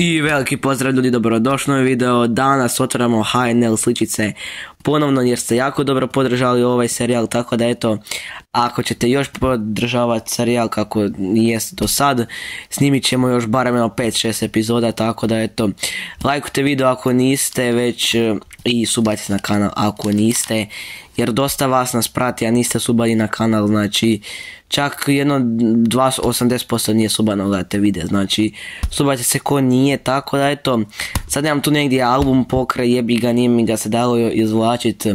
I veliki pozdrav ljudi, dobrodošli u novi video. Danas otvaramo HNL sličice ponovno jer ste jako dobro podržali ovaj serijal, tako da eto, ako ćete još podržavati serijal kako jest do sad, snimit ćemo još barem 5-6 epizoda, tako da eto, lajkujte video ako niste već i subajte se na kanal ako niste, jer dosta vas nas prati, a niste subali na kanal, znači čak 80% nije subano, gledate videa, znači subajte se ko nije, tako da eto, sad imam tu negdje album pokraj, jebi ga, nije mi ga se dalo izvlačit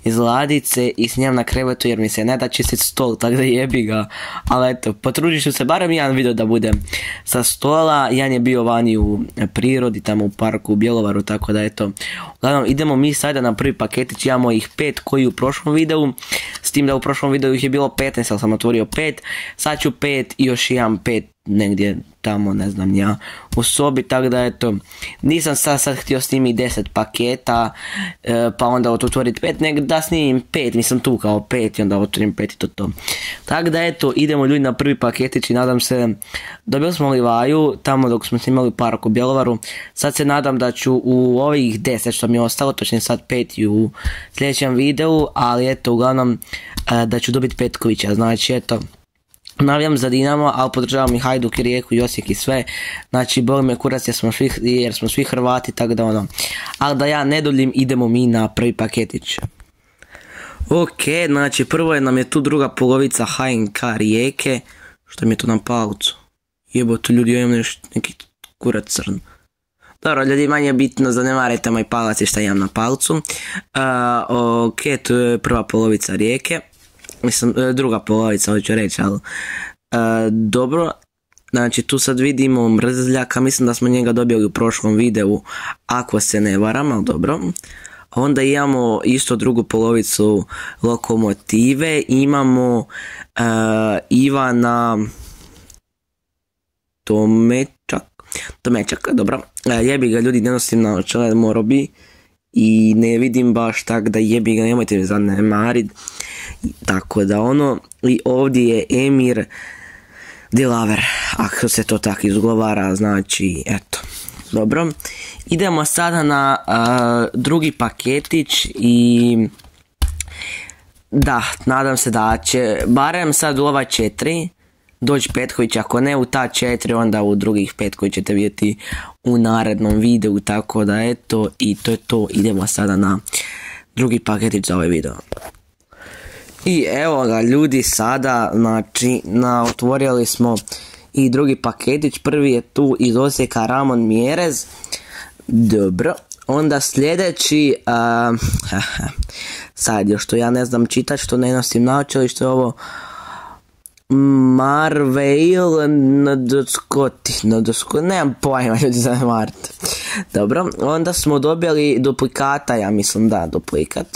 iz ladice i snimam na krevetu jer mi se ne da čistit stol, tako da jebi ga, ali eto, potrudit ću se barem jedan video da bude sa stola, jedan je bio vani u prirodi, tamo u parku u Bjelovaru, tako da eto, uglavnom idemo mi sada na prvi paketić, imamo ih 5 koji u prošlom videu, s tim da u prošlom videu ih je bilo 15, ali sam otvorio 5, sad ću 5 i još imam 5 negdje tamo, ne znam ja, u sobi, tako da eto, nisam sad htio snimiti 10 paketa, pa onda otvoriti 5, nego da snimim 5, nisam tu kao 5 i onda otvorim 5 i to. Tako da eto, idemo ljudi na prvi paketić i nadam se, dobili smo Livaju tamo dok smo snimali park u Bjelovaru, sad se nadam da ću u ovih 10 što mi je ostalo, točnije sad 5 u sljedećem videu, ali eto, uglavnom da ću dobiti Petkovića, znači eto, navijam za Dinamo, ali podržavam i Hajduk i Rijeku i Osijek i sve, znači boli me kurac jer smo svi Hrvati, tako da ono, ali da ja ne duljim, idemo mi na prvi paketić. Ok, znači prvo nam je tu druga polovica HNK Rijeke, što mi je to na palcu, jebote ljudi, ja imam neki kurac crn. Dobro ljudi, manje bitno, zanemarajte moj palac i šta imam na palcu. Ok, tu je prva polovica Rijeke. Mislim, druga polovica, hoću reći, ali dobro, znači tu sad vidimo Mrzljaka, mislim da smo njega dobili u prošlom videu, ako se ne varam, ali dobro. Onda imamo isto drugu polovicu Lokomotive, imamo Ivana Tomečaka, dobro, jebi ga ljudi, ne nosim naočale, morao bi i ne vidim baš tak da jebi ga, nemojte mi zanemarit. Tako da ono, i ovdje je Emir Dilaver, ako se to tako izgovara, znači, eto, dobro. Idemo sada na drugi paketić i da, nadam se da će, barem sad u ova 4 doći Petković, ako ne u ta 4, onda u drugih 5 koji ćete vidjeti u narednom videu, tako da eto, i to je to, idemo sada na drugi paketić za ovaj video. I evo ga ljudi, sada, znači, otvorili smo i drugi paketić, prvi je tu iz Osijeka Ramon Mjerez, dobro, onda sljedeći, sad još što ja ne znam čitati, što ne nosim naočale, što je ovo, Marveil nemam pojma ljudi za Mart. Dobro, onda smo dobili duplikata, ja mislim da, duplikat.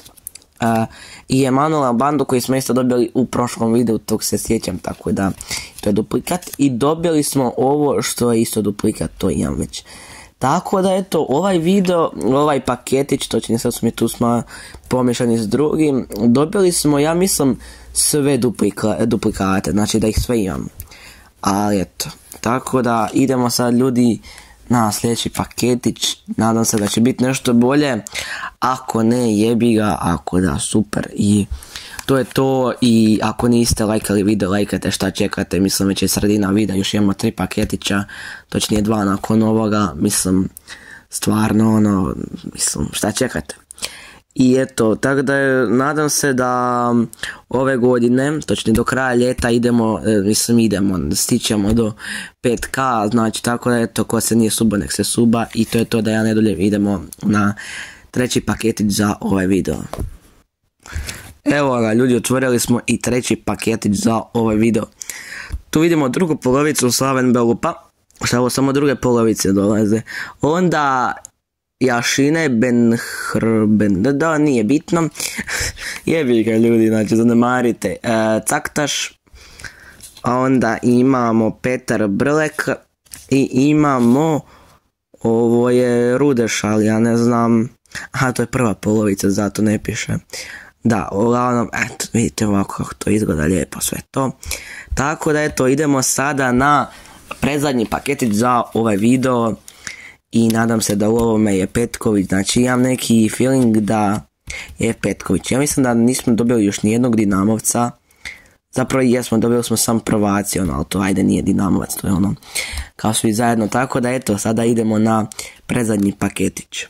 I Emanuela Bandu koji smo isto dobili u prošlom videu, tog se sjećam, tako da to je duplikat. I dobili smo ovo što je isto duplikat, to imam već. Tako da eto, ovaj video, ovaj paketić, točnije sad smo tu pomješani s drugim, dobili smo, ja mislim, sve duplikate, znači da ih sve imam. Ali eto, tako da idemo sad ljudi na sljedeći paketić, nadam se da će biti nešto bolje, ako ne jebi ga, ako da super, i to je to. I ako niste lajkali video, lajkajte, šta čekate, mislim već je sredina videa, još imamo 3 paketića, točnije 2 nakon ovoga, mislim stvarno ono, mislim šta čekate. I eto, tako da nadam se da ove godine, točnije do kraja ljeta idemo, stićemo do 5K, znači tako da eto, ko se nije suba nek se suba, i to je to, da ja ne duljim, idemo na treći paketić za ovaj video. Evo ga ljudi, otvorili smo i treći paketić za ovaj video. Tu vidimo drugu polovicu Slaven Belupa, što ovo samo druge polovice dolaze. Onda Jašine da nije bitno, jebi ga ljudi, znači zanemarite, Caktaš, a onda imamo Petar Brlek i imamo, ovo je Rudeš, ali ja ne znam, aha, to je prva polovica, zato ne piše. Da, uglavnom, eto, vidite ovako kako to izgleda lijepo sve to. Tako da eto, idemo sada na predzadnji paketić za ovaj video. i nadam se da u ovome je Petković, znači imam neki feeling da je Petković. Ja mislim da nismo dobili još nijednog Dinamovca, zapravo jesmo, dobili smo sam Provaci, ali to ajde nije Dinamovac, to je ono kao svi zajedno, tako da eto, sada idemo na predzadnji paketić.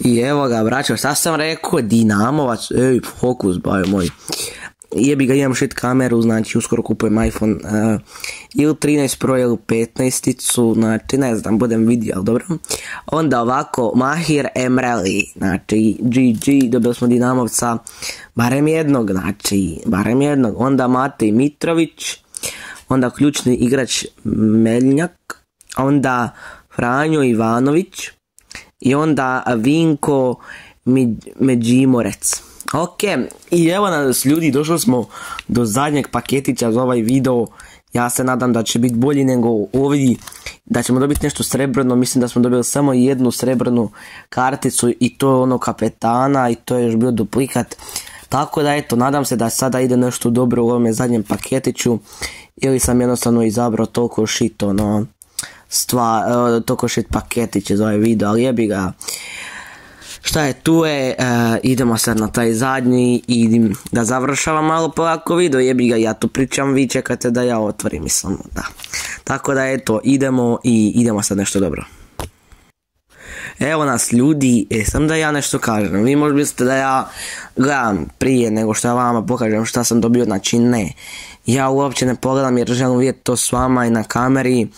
I evo ga, braćo, šta sam rekao, Dinamovac, fokus, bajo moj. Jebi ga, imam shit kameru, znači uskoro kupujem iPhone ili 13 Pro ili 15-icu, znači ne znam, budem vidio, ali dobro. Onda ovako, Mahir Emreli, znači GG, dobili smo Dinamovca, barem jednog, znači, barem jednog. Onda Matej Mitrović, onda ključni igrač Meljnjak, onda Franjo Ivanović i onda Vinko Međimorec. Ok, i evo nas ljudi, došli smo do zadnjeg paketića za ovaj video. Ja se nadam da će biti bolji nego ovi, da ćemo dobiti nešto srebrno. Mislim da smo dobili samo jednu srebrnu karticu i to je ono kapetana i to je još bio duplikat. Tako da eto, nadam se da sada ide nešto dobro u ovome zadnjem paketiću, ili sam jednostavno izabrao toliko shit toliko shit paketiće za ovaj video, ali jebi ga. Šta je, tu je, idemo sad na taj zadnji i da završavam malo polako video, jebi ga, ja tu pričam, vi čekate da ja otvorim, mislim, da. Tako da eto, idemo sad nešto dobro. Evo nas ljudi, sam da ja nešto kažem, vi možda mislite da ja gledam prije nego što ja vama pokažem šta sam dobio, znači ne. Ja uopće ne pogledam jer želim vidjeti to s vama i na kameri.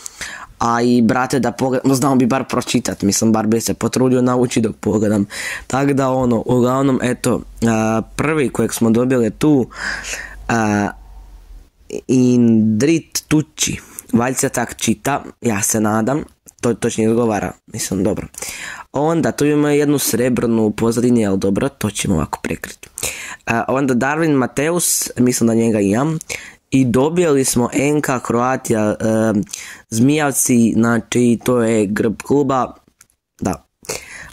A i brate da pogledam, znao bi bar pročitat, mislim bar bi se potrudio naučiti dok pogledam. Tako da ono, uglavnom eto, prvi kojeg smo dobili tu, Indrit Tucci, valjda se tak čita, ja se nadam, to točnije izgovara, mislim dobro. Onda tu imamo jednu srebrnu u pozadini, ali dobro, to ćemo ovako prekriti. Onda Darwin Mateus, mislim da njega imam. I dobili smo NK Croatia Zmijavci, znači to je grb kluba, da.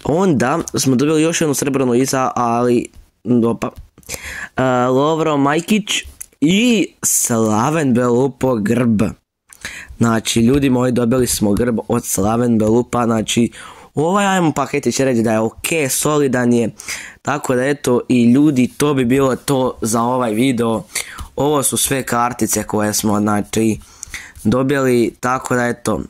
Onda smo dobili još jednu srebrnu iza, ali opa, Lovro Majkić i Slaven Belupo grb. Znači ljudi moji, dobili smo grb od Slaven Belupa, znači ovaj ajmo paketi će reći da je ok, solidan je, tako da eto i ljudi, to bi bilo to za ovaj video. Ovo su sve kartice koje smo znači dobili, tako da eto,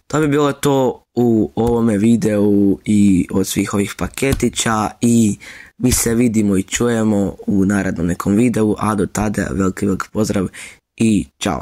to bi bilo to u ovome videu i od svih ovih paketića i mi se vidimo i čujemo u narednom nekom videu, a do tada veliki pozdrav i čao.